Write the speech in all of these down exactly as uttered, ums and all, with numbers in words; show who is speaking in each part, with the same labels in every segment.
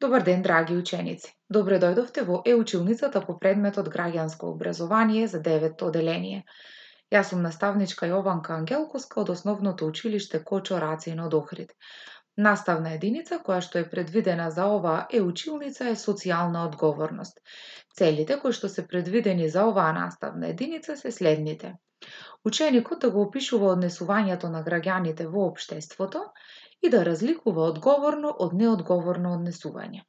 Speaker 1: Добар ден, драги ученици! Добре дојдовте во е-училницата по предметот Граѓанско образование за деветто оделение. Јас сум наставничка Јованка Ангелковска од Основното училиште Кочо Рацин од Охрид. Наставна единица која што е предвидена за оваа е-училница е социјална одговорност. Целите кои што се предвидени за оваа наставна единица се следните. Ученикот да го опишува однесувањето на граѓаните во општеството и да разликува одговорно од неодговорно однесување.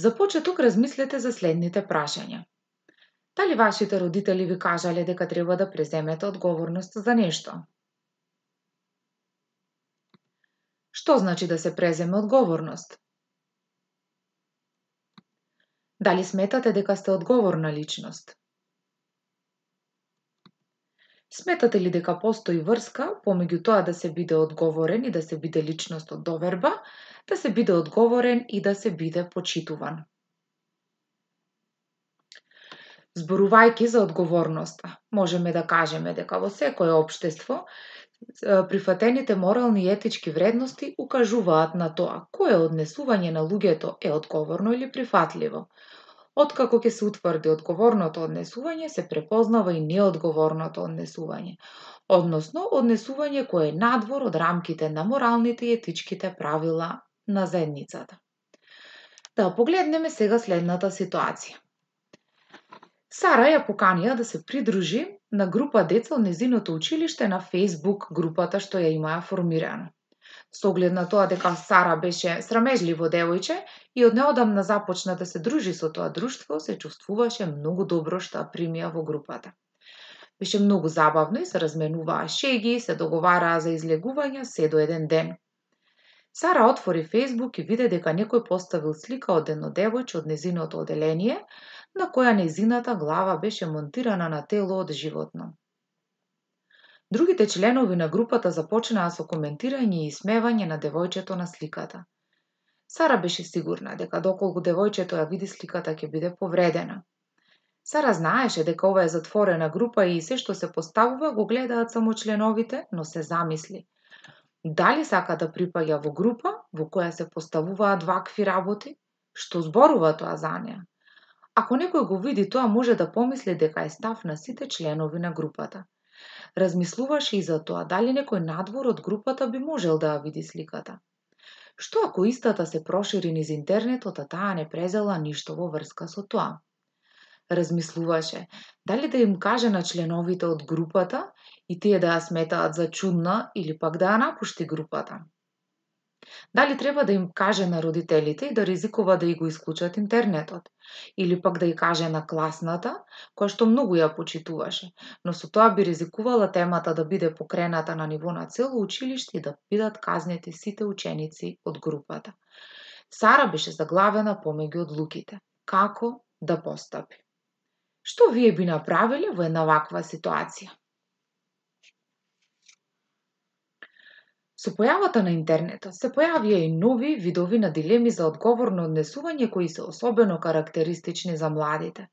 Speaker 1: За почеток размислете за следните прашања. Дали вашите родители ви кажале дека треба да преземете одговорност за нешто? Што значи да се преземе одговорност? Дали сметате дека сте одговорна личност? Сметате ли дека постои врска помеѓу тоа да се биде одговорен и да се биде личност од доверба, да се биде одговорен и да се биде почитуван? Зборувајќи за одговорноста, можеме да кажеме дека во секое општество прифатените морални и етички вредности укажуваат на тоа кое однесување на луѓето е одговорно или прифатливо. Откако ќе се утврди одговорното однесување, се препознава и неодговорното однесување, односно однесување кое е надвор од рамките на моралните и етичките правила на заедницата. Да погледнеме сега следната ситуација. Сара ја поканија да се придружи на група деца од незиното училиште на Facebook групата што ја имаа формирано. Со оглед на тоа дека Сара беше срамежливо девојче и од неодамна започна да се дружи со тоа друштво, се чувствуваше многу добро што ја примија во групата. Беше многу забавно и се разменуваа шеги, се договараа за излегувања се до еден ден. Сара отвори Facebook и виде дека некој поставил слика од едно девојче од незиното оделение, на која незината глава беше монтирана на тело од животно. Другите членови на групата започнаа со коментирање и исмевање на девојчето на сликата. Сара беше сигурна дека доколку девојчето ја види сликата ќе биде повредена. Сара знаеше дека ова е затворена група и се што се поставува го гледаат само членовите, но се замисли. Дали сака да припаѓа во група во која се поставуваат вакви работи? Што зборува тоа за неа? Ако некој го види тоа, може да помисли дека е став на сите членови на групата. Размислуваше и за тоа дали некој надвор од групата би можел да ја види сликата. Што ако истата се прошири низ интернетот, а таа не презела ништо во врска со тоа? Размислуваше дали да им каже на членовите од групата и тие да ја сметаат за чудна или пак да ја напушти групата. Дали треба да им каже на родителите и да ризикува да и го исклучат интернетот, или пак да ја каже на класната, која што многу ја почитуваше, но со тоа би ризикувала темата да биде покрената на ниво на цело училиште и да бидат казнети сите ученици од групата. Сара беше заглавена помеѓу одлуките. Како да постапи? Што вие би направиле во една ваква ситуација? Со појавата на интернетот се појавија и нови видови на дилеми за одговорно однесување кои се особено карактеристични за младите.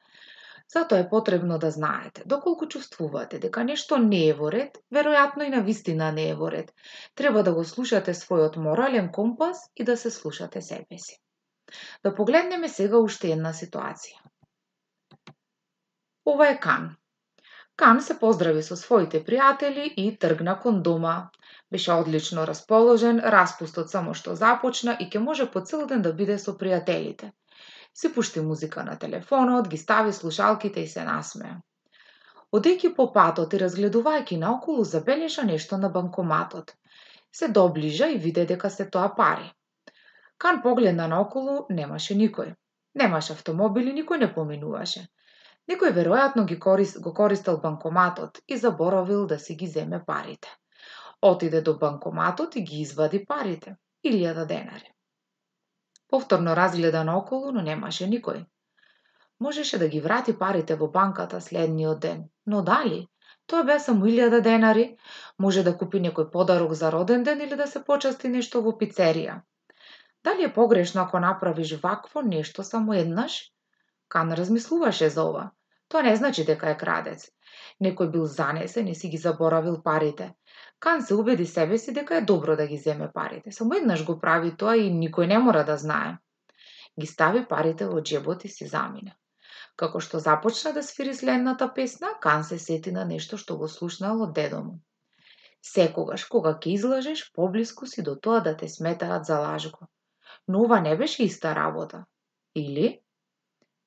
Speaker 1: Затоа е потребно да знаете, доколку чувствувате дека нешто не е во ред, веројатно и навистина не е во ред. Треба да го слушате својот морален компас и да се слушате себе си. Да погледнеме сега уште една ситуација. Ова е Кан. Кан се поздрави со своите пријатели и тргна кон дома. Беше одлично расположен, распустот само што започна и ќе може по цел ден да биде со пријателите. Си пушти музика на телефонот, ги стави слушалките и се насмеа. Одејќи по патот и разгледувајќи наоколу, забележа нешто на банкоматот. Се доближа и виде дека се тоа пари. Кан погледна наоколу, немаше никој. Немаше автомобили, никој не поминуваше. Некој веројатно ги корист, го користел банкоматот и заборавил да си ги земе парите. Отиде до банкоматот и ги извади парите, илјада денари. Повторно разгледа наоколу, но немаше никој. Можеше да ги врати парите во банката следниот ден, но дали? Тоа беа само илјада денари, може да купи некој подарок за роден ден или да се почасти нешто во пицерија. Дали е погрешно ако направиш вакво нешто само еднаш? Кан размислуваше за ова. Тоа не значи дека е крадец. Некој бил занесен и си ги заборавил парите. Кан се убеди себе си дека е добро да ги земе парите. Само еднаш го прави тоа и никој не мора да знае. Ги стави парите во џебот и си замина. Како што започна да свири следната песна, Кан се сети на нешто што го слушнал од дедо му. Секогаш кога ќе излажеш, поблиску си до тоа да те сметаат за лажко. Но ова не беше иста работа. Или?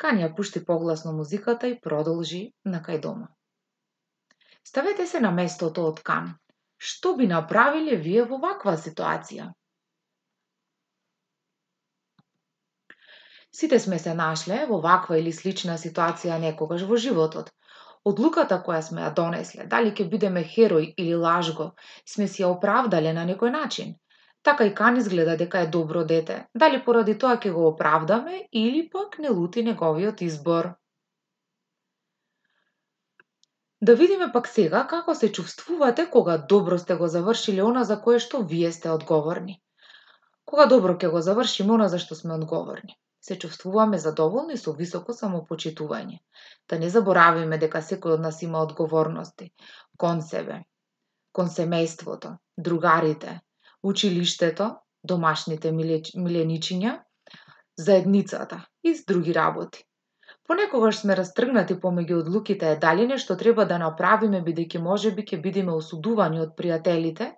Speaker 1: Кан ја пушти погласно музиката и продолжи накај дома. Ставете се на местото од Кан. Што би направиле вие во ваква ситуација? Сите сме се нашле во ваква или слична ситуација некогаш во животот. Одлуката која сме ја донесле, дали ќе бидеме херој или лажго, сме си ја оправдале на некој начин. Така и Кан изгледа дека е добро дете, дали поради тоа ќе го оправдаме или пак не лути неговиот избор. Да видиме пак сега како се чувствувате кога добро сте го завршиле она за кое што вие сте одговорни. Кога добро ќе го завршиме она за што сме одговорни, се чувствуваме задоволни со високо самопочитување. Да не заборавиме дека секој од нас има одговорности кон себе, кон семејството, другарите, училиштето, домашните миленичиња, заедницата и с други работи. Понекогаш сме растргнати помеѓу одлуките е дали нешто треба да направиме бидејќи можеби ќе бидеме осудувани од пријателите,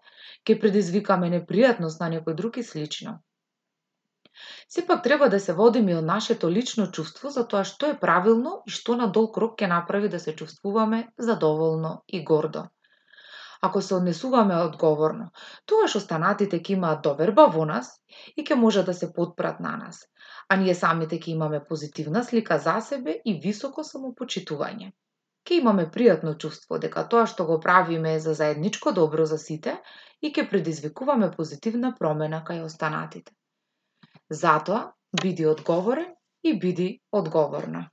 Speaker 1: ќе предизвикаме непријатност на некој друг и слично. Сепак треба да се водиме од нашето лично чувство за тоа што е правилно и што на долг рок ќе направи да се чувствуваме задоволно и гордо. Ако се однесуваме одговорно, тогаш останатите ќе имаат доверба во нас и ќе може да се потпрат на нас, а ние самите ќе имаме позитивна слика за себе и високо самопочитување. Ќе имаме пријатно чувство дека тоа што го правиме е за заедничко добро за сите и ќе предизвикуваме позитивна промена кај останатите. Затоа, биди одговорен и биди одговорна.